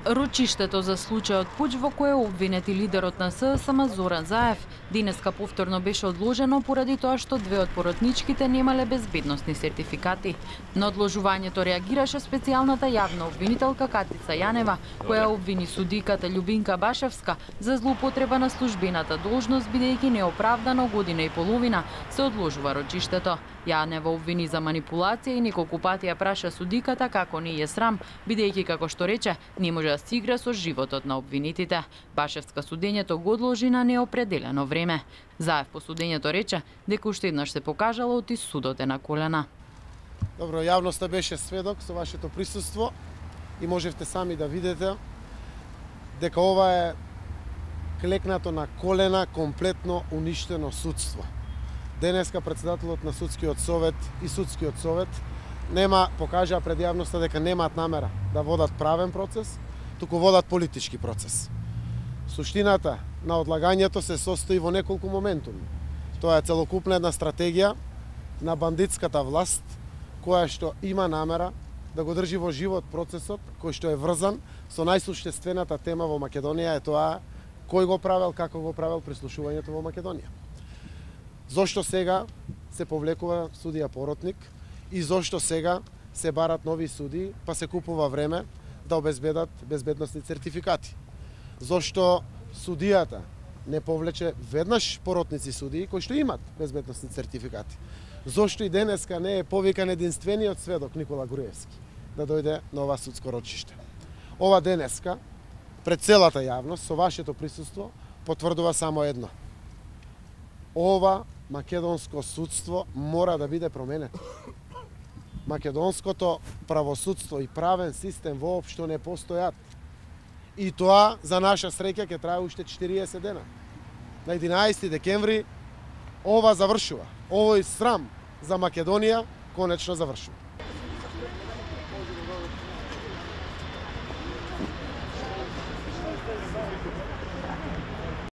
Рочиштето за случајот пуќ во кој обвинет и лидерот на ССМ Зоран Заев денеска повторно беше одложено поради тоа што две од поротничките немале безбедносни сертификати. На одложувањето реагираше специјалната јавна обвинителка Катица Јанева, која обвини судиката Љубинка Башевска за злоупотреба на службената должност бидејќи неоправдано година и половина се одложува рочиштето. Јанева обвини за манипулација и неколку пати ја праша судиката како не е срам, бидејќи како што рече, не може да се игра со животот на обвинетите. Башевска судењето го одложи на неопределено време. Заев по судењето рече дека уште еднаш се покажало оти судот е на колена. Добро, јавноста беше сведок со вашето присуство и можевте сами да видите дека ова е клекнато на колена, комплетно уништено судство. Денеска председателот на Судскиот совет и Судскиот совет покажаа пред јавноста дека немаат намера да водат правен процес, туку водат политички процес. Суштината на одлагањето се состои во неколку моментуми. Тоа е целокупна една стратегија на бандитската власт, која што има намера да го држи во живот процесот, кој што е врзан со најсуштествената тема во Македонија, е тоа кој го правел, како го правел прислушувањето во Македонија. Зошто сега се повлекува судија поротник и зошто сега се барат нови судии, па се купува време да обезбедат безбедносни сертификати. Зошто судијата не повлече веднаш поротници судии кои што имат безбедносни сертификати. Зошто и денеска не е повикан единствениот сведок Никола Груевски да дојде на ова судско рочиште. Ова денеска пред целата јавност со вашето присуство потврдува само едно. Ова македонско судство мора да биде променето. Македонското правосудство и правен систем воопшто не постојат. И тоа, за наша среќа, ќе трае уште 40 дена. На 11 декември ова завршува. Овој срам за Македонија конечно завршува.